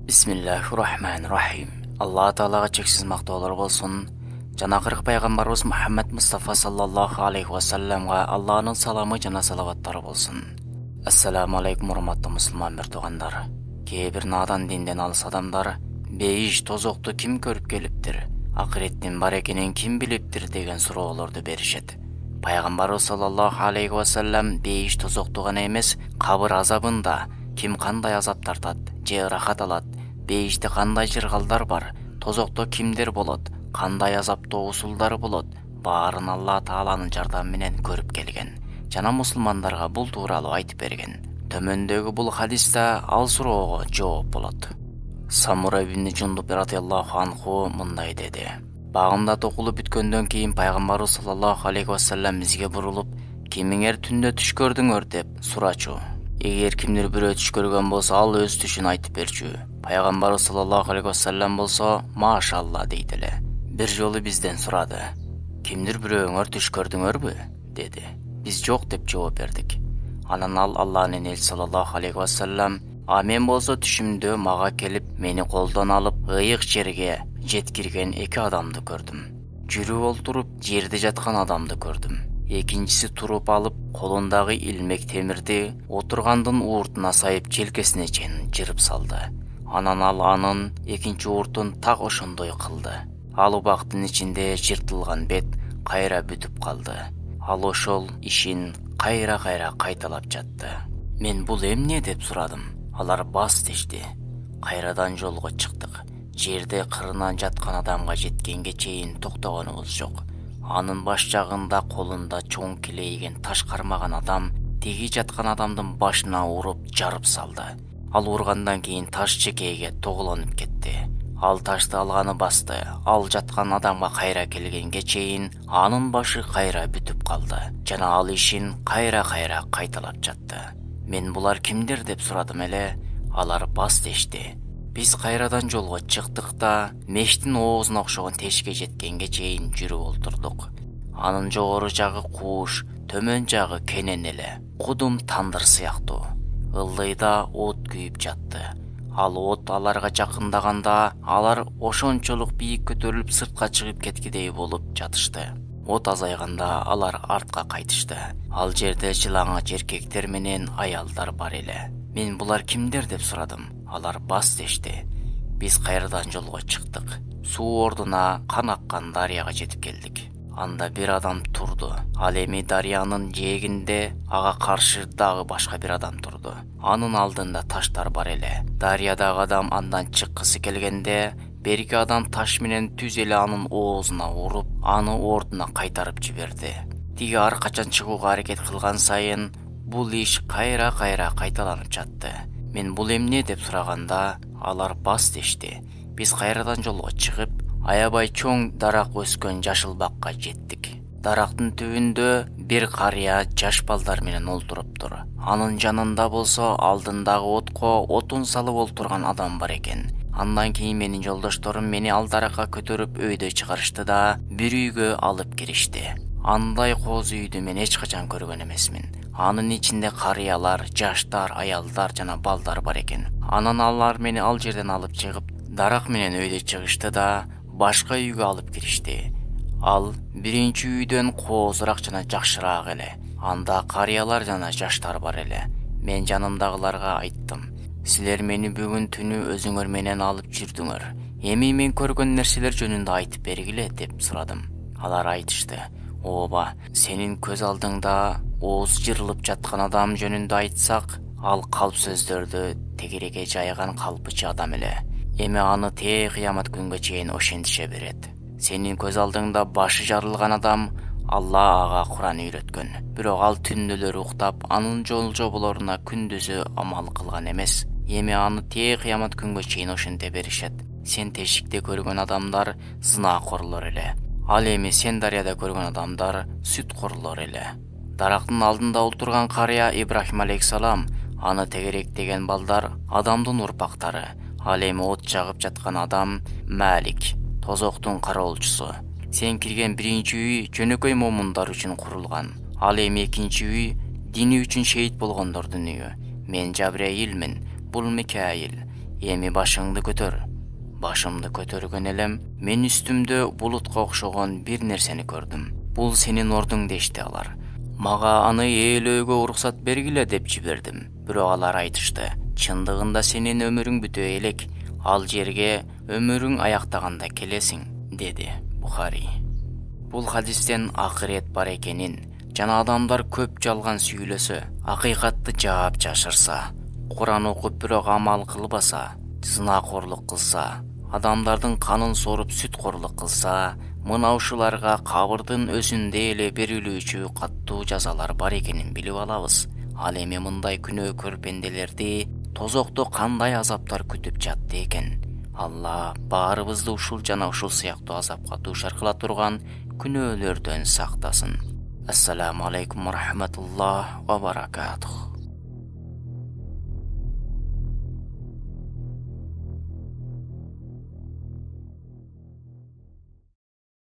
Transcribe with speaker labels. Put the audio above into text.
Speaker 1: Бисмиллахир-рахманир-рахим. Алла Таалага чексиз мактоолор болсун. Жана акыркы пайгамбарыбыз Мухаммад Мустафа саллаллаху алейхи ва салламга Алланын саламы жана салаваттары болсун. Ассаламу алейкум, урматтуу мусулман туугандар. Кээ бир надан динден алыс адамдар бейиш тозокту ким көрүп келиптир, акыреттин бар экенин ким билиптир деген суроолорду беришет. Пайгамбарыбыз саллаллаху алейхи ва саллам бейиш тозокту гана эмес, кабыр азабында ким кандай азап тартат же ырахат алат, бейиште кандай жыргалдар бар, тозокто кимдер болот, кандай азаптоо усулдары болот, баарын Алла Тааланын жардамы менен көрүп келген жана мусулмандарга бул тууралуу айтып берген. Төмөндөгү бул хадисте ал суроого жооп болот. Самура ибн Жундуб радыйаллаху анху мындай деди: Багымда токулуп бүткөндөн кийин пайгамбарыбыз саллаллаху алейхи ва саллам бизге бурулуп, кимиңер түндө түш көрдүңөр деп сурачу. Эгер кимдир бирөө түш көргөн болсо, ал өз түшүн айтып берчү. Пайгамбарыбыз саллаллаху алейхи ва саллам болсо, машалла дейт эле. Бир жолу бизден сурады: Кимдир бирөөңөр түш көрдүңөрбү? Деди. Биз жок деп жооп бердик. Анан ал Алланын элчиси саллаллаху алейхи ва саллам: Мен болсо түшүмдө мага келип, мени колдон алып, ыйык жерге жеткирген эки адамды көрдүм. Жүрүп олтуруп, жерде жаткан адамды көрдүм. Экинчиси туруп алып, колундагы илмек темирди отургандын ууртуна сайып желкесине чейин жырып салды. Анан ал анын экинчи ууртун так ошондой кылды. Ал убактын ичинде жыртылган бет кайра бүтүп калды. Ал ошол ишин кайра кайталап жатты. Мен бул эмне деп сурадым. Алар бас дешти. Кайрадан жолго чыктык. Жерде кырынан жаткан адамга жеткенге чейин токтогонубуз жок. Анын баш жагында колунда чоң килейген таш кармаган адам теги жаткан адамдын башына уруп жарып салды. Ал ургандан кийин таш чекейге тогуланып кетти. Ал ташты алганы басты. Ал жаткан адамга кайра келгенге чейин анын башы кайра бүтүп калды жана ал ишин кайра кайталап жатты. Мен булар кимдер деп сурадым эле. Алар бас дешти. Биз кайрадан жолго чыктык да мештин оозуна окшогон тешикке жеткенге чейин жүрүп олтурдук. Анын жогору жагы кууш, төмөн жагы кенен эле, кудум тандыр сыяктуу. Ылдыйда от күйүп жатты. Ал от аларга жакындаганда алар ошончолук бийик көтөрүлүп сыртка чыгып кеткидей болуп жатышты. От азайганда алар артка кайтышты. Ал жерде жылаңач эркектер менен аялдар бар эле. Мен булар кимдер деп сурадым. Алар бас дешти. Биз кайрадан жолго чыктык. Суу ордуна кан аккан дарыяга жетип келдик. Анда бир адам турду. Ал эми дарыянын жээгинде ага каршы дагы башка бир адам турду. Анын алдында таштар бар эле. Дарыядагы адам андан чыккысы келгенде, берки адам таш менен түз эле анын оозуна уруп, аны ордуна кайтарып жиберди. Тиги ар качан чыгууга аракет кылган сайын бул иш кайра кайталанып жатты. Мен бул эмне деп сураганда, алар бас дешти. Биз кайрадан жолго чыгып, аябай чоң дарак өскөн жашыл бакка жеттик. Дарактын түбүндө бир карыя жаш балдар менен олтуруптур. Анын жанында болсо алдындагы отко отун салып олтурган адам бар экен. Андан кийин менин жолдошторум мени ал даракка көтөрүп өйдө чыгарышты да бир үйгө алып киришти. Андай кооз үйдү мен эч качан көргөн эмесмин. Анын ичинде карыялар, жаштар, аялдар жана балдар бар экен. Анан алар мени ал жерден алып чыгып, дарак менен өйдө чыгышты да башка үйгө алып киришти. Ал биринчи үйдөн коозураак жана жакшыраак эле. Анда карыялар жана жаштар бар эле. Мен жанымдагыларга айттым: Силер мени бүгүн түнү өзүңөр менен алып жүрдүңөр. Эми мен көргөн нерселер жөнүндө айтып бергиле деп сурадым. Алар айтышты: Ооба, сенин көз алдыңда ооз жырылып жаткан адам жөнүндө айтсак, ал калп сөздөрдү тегереге жайган калпычы адам эле. Эми аны кыямат күнгө чейин ошентише берет. Сенин көз алдыңда башы жарылган адам, Алла ага Куран үйрөткөн. Бирок ал түндөлөрү уктап, анын жол-жоболоруна күндүзү амал кылган эмес. Эми аны кыямат күнгө чейин ошенте беришет. Сен тешикте көргөн адамдар зынакорлор эле. Ал эми сен дарыяда көргөн адамдар сүткорлор эле. Дарактын алдында олтурган карыя Ибрахим алейхиссалам, аны тегеректеген балдар Адамдын урпактары. Ал эми от жагып жаткан адам Малик, тозоктун кароолчусу. Сен кирген биринчи үй жөнөкөй момундар үчүн курулган. Ал эми экинчи үй дини үчүн шейит болгондордун үйү. Мен Жабраилмин, бул Микаил. Эми башыңды көтөр. Башымды көтөргөн элем мен үстүмдө булутка окшогон бир нерсени көрдүм. Бул сенин ордуң дешти алар. Мага аны ээлөөгө уруксат бергиле деп жибердим. Бирок алар айтышты: чындыгында сенин өмүрүң бүтө элек. Ал жерге өмүрүң аяктаганда келесиң, деди Бухари. Бул хадистен акырет бар экенин жана адамдар көп жалган сүйлөсө, акыйкатты жаап жашырса, Куран окуп бирок амал кылбаса, зынакорлук кылса, адамдардын канын соруп сүткорлук кылса, мына ушуларга кабырдын өзүндө эле берилүүчү каттуу жазалар бар экенин билип алабыз. Ал эми мындай күнөөкөр пенделерди тозокто кандай азаптар күтүп жатты экен? Алла баарыбызды ушул жана ушул сыяктуу азапка дуушар кыла турган күнөөлөрдөн сактасын. Ассаламу алейкум ва рахматуллах ва баракатух.